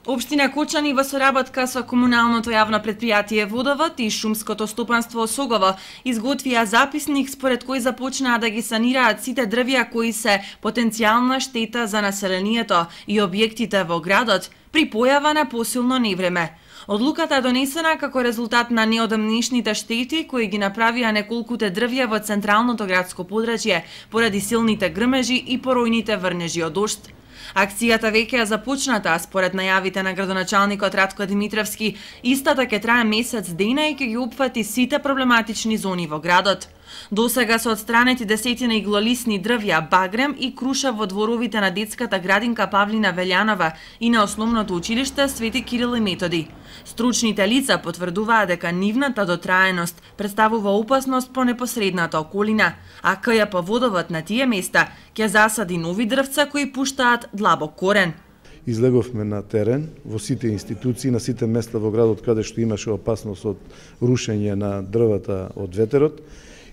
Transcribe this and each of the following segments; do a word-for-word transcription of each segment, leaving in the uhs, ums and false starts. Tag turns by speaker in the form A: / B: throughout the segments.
A: Општина Кочани во соработка со комуналното јавно претпријатие Водовод и шумското стопанство Осогово изготвија записник според кој започнаа да ги санираат сите дрвја кои се потенцијална штета за населението и објектите во градот при појава на посилно невреме. Одлуката е донесена како резултат на неодамнешните штети кои ги направија неколкуте дрвја во централното градско подрачје поради силните грмежи и поројните врнежи од дожд. Акцијата веќе е започната, а според најавите на градоначалникот Радко Димитровски, истата ќе трае месец дена и ќе ги опфати сите проблематични зони во градот. Досега се отстранети десетина иглолисни дрвја, багрем и круша во дворовите на детската градинка Павлина Велјанова и на основното училиште Свети Кирил и Методи. Стручните лица потврдуваа дека нивната дотраеност представува опасност по непосредната околина, а К Ј П Водовод на тие места ќе засади нови дрвца кои пуштаат длабок корен.
B: Излеговме на терен во сите институции, на сите места во градот каде што имаше опасност од рушење на дрвата од ветерот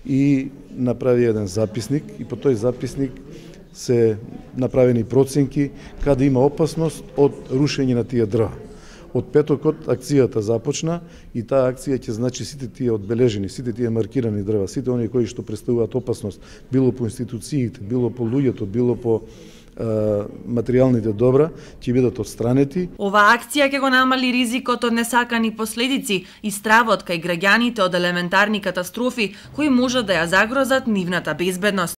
B: и направи еден записник и по тој записник се направени проценки каде има опасност од рушење на тие дрва. Од петокот акцијата започна и таа акција ќе значи сите тие одбележени, сите тие маркирани дрва, сите оние кои што представуваат опасност, било по институциите, било по луѓето, било по материјалните добра, ќе бидат отстранети.
A: Оваа акција ќе го намали ризикот од несакани последици и стравот кај граѓаните од елементарни катастрофи кои може да ја загрозат нивната безбедност.